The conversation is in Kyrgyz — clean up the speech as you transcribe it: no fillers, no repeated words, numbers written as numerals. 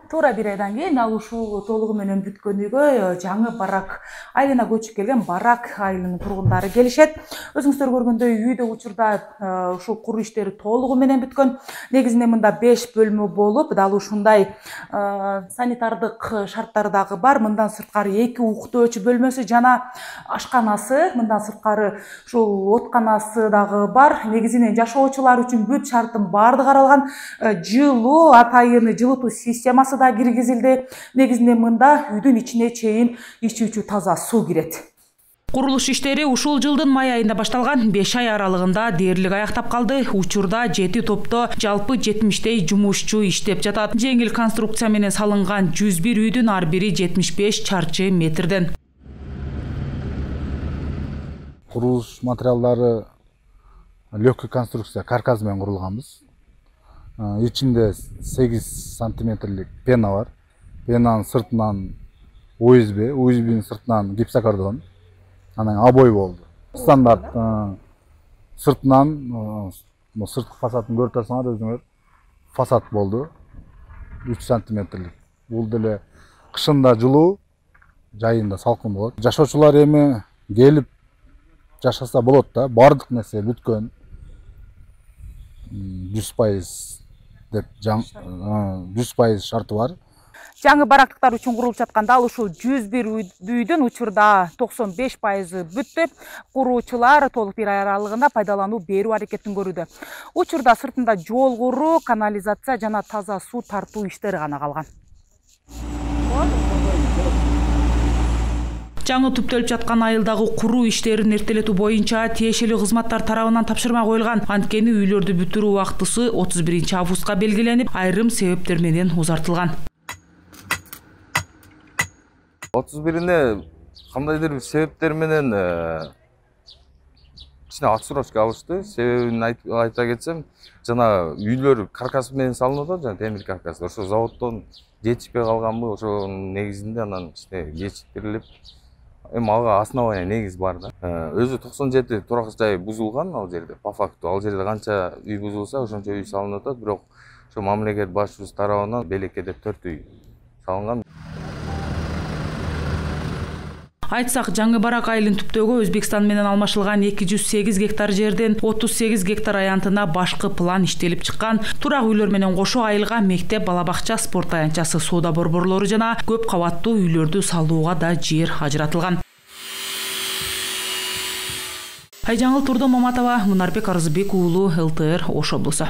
Туура бир айдан кийин ал ушул толугу менен бүткөн үйгө жаңы барак айылына көчүп келген барак айылынын тургундары келишет. Өзүңүздөр көргөндөй үйдө учурда ушул куруу иштери толугу менен бүткөн. Негизинде мында 5 бөлмө болуп, дал ушундай санитардык шарттары дагы бар. Мындан сырткары 2 уктоочу бөлмөсү жана ашканасы, мындан сырткары ушул отканасы дагы бар. Негизинен жашоочулар үчүн бүт шарттын баардыгы каралган. Жылуу, атайын жылытуу системасы да киргизилди. Негизинде мында үйдүн ичине чейин ичүүчү таза суу кирет. Курулуш иштери ушул жылдын май айында башталган. 5 ай аралыгында дээрлик аяктап калды. Учурда 7 топто жалпы 70 жумушчу иштеп жатат. Жеңил конструкция менен салынган 101 үйдүн ар бири 75 чарчы метрден. Курулуш материалдары легкий конструкция каркас менен курулганбыз. Ичинде 8 сантиметрлик пена бар. Пенанын сыртынан УСБ сыртынан гипсокартон. Анан обой болду. Стандарт сыртынан сырткы фасадын көрүп турсаңар өзүңөр фасад болду. 3 сантиметрлик. Бул деле кышында жылуу, жайында салкын болот. Жашоочулар эми келип жашаса болот да. Бардык нерсе бүткөн. 100% деп 100% шарты бар. Жаңы барактыктар үчүн курулуп жаткан дал ушул 101 үйдүн учурда 95% бүттү. Куруучулар толук бир ай аралыгында пайдалануу берүү аракетин көрүүдө. Учурда сыртында жол куруу, канализация жана таза суу тартуу иштери гана калган. Жаңы түптөлүп жаткан айылдагы куруу иштерин эртелетүү боюнча тиешелүү кызматтар тарабынан тапшырма коюлган. Анткени үйлөрдү бүтүрүү убактысы 31-августка белгиленип, айрым себептер менен узартылган. 31-ине кандайдыр бир себептер менен кичине отсрочка алышты. Себебин айта кетсем, жана үйлөр каркас менен салынып атат, жана темир каркас. Ошо заводдон жетишпей калганбы, ошонун негизинде анан кичине кечиктирилип, эми ага основания негиз бар да. Өзү 97 турак жай бузулган ал жерде. По факту ал жерде канча үй бузулса, ошончо үй салынып атат, бирок ошо мамлекет башчыбыз тарабынан белекеде 4 үй салынган. Айтсак, жаңы барак айылын түптөөгө Өзбекстан менен алмашылган 208 гектар жерден 38 гектар аянтына башкы план иштелип чыккан. Турак үйлөр менен кошо айылга мектеп, бала бакча, спорт аянтчасы, соода борборлору жана көп кабаттуу үйлөрдү салууга да жер ажыратылган. Айжаңыл Турдо Маматова, Мунарбек Арызбек уулу, ЛТР, Ош облусу.